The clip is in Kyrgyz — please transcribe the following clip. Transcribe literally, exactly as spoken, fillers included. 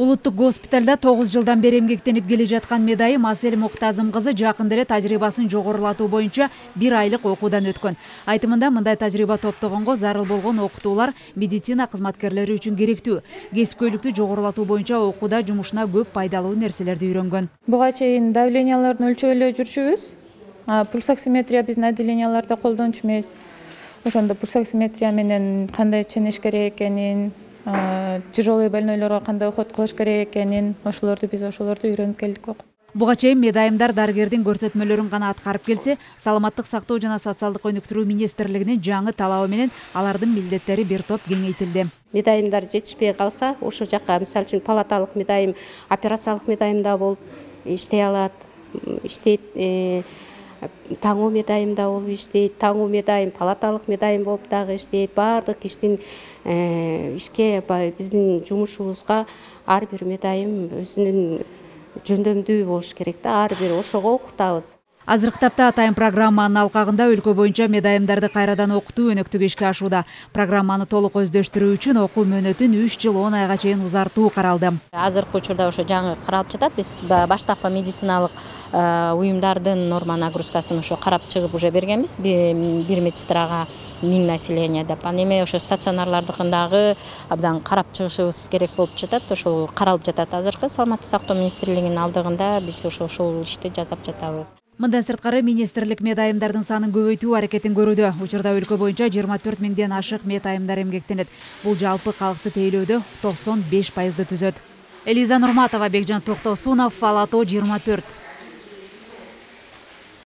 Улуттук госпиталда тогуз жылдан бери эмгектенип келе жаткан медайым Асель Муктазым кызы жакында эле тажрыйбасын жогорулатуу боюнча бир айлык окуудан өткөн. Айтымында мындай тажрыйба топтогонго зарыл болгон окутуулар медицина кызматкерлери үчүн керектүү. Кесипкөйлүктү жогорулатуу боюнча окууда жумушуна көп пайдалуу нерселерди үйрөнгөн. Буга чейин давленияларды өлчөп эле жүрчүбүз. Пульсоксиметрия биздин отделенияларда колдончу эмес. Ошондо пульсоксиметрия менен кандай ченеш керек экенин, тяжелый больнойлорго кандай уход кылыш керек экенин, ошолорду биз ошолорду үйрөнүп келдик. Буга чейин медайымдар дарыгердин көрсөтмөлөрүн гана аткарып келсе, Саламаттык сактоо жана социалдык өнүктүрүү министрлигинин жаңы талабы менен алардын милдеттери бир топ кеңейтилди. Медайымдар жетишпей калса, ошол жака мисалы үчүн палаталык медайым, операциялык медайымда болуп иштей алат, иштейт. Таңуу медайымда болуп иштейт, таңуу медайым, палаталык медайым болуп дагы иштейт. Баардык иштин ишке биздин жумушубузга ар бир медайым өзүнүн жөндөмдүү болуш керек да, ар бир ошого окутабыз. Азыркы тапта атайын программанын алкагында өлкө боюнча медайымдарды кайрадан окутуу өнөктүгү ишке ашууда. Программаны толук өздөштүрүү үчүн окуу мөөнөтүн үч жыл он айга чейин узартуу каралды. Азыркы учурда ошо жаңы каралып жатат. Биз баштапкы медициналык уюмдардын норма нагрузкасын ошо карап чыгып уже бергенбиз. Бир медсестрага миң население деп. Аны эми ошо стационарлардыкындагы абдан карап чыгышыбыз керек болуп жатат. Ошол каралып жатат азыркы. Саламаттык сактоо министрлигинин алдыгында биз ошо ошол ишти жасап жатабыз. Мындан сырткары министрлик медайымдардын санын көбөйтүү аракетин көрүүдө. Учурда өлкө боюнча жыйырма төрт миңден ашык медайымдар эмгектенет. Бул жалпы калкты тейлөөдө токсон беш пайызды түзөт. Элиза Нурматова, Бекжан Токтосунов, Ала тоо жыйырма төрт.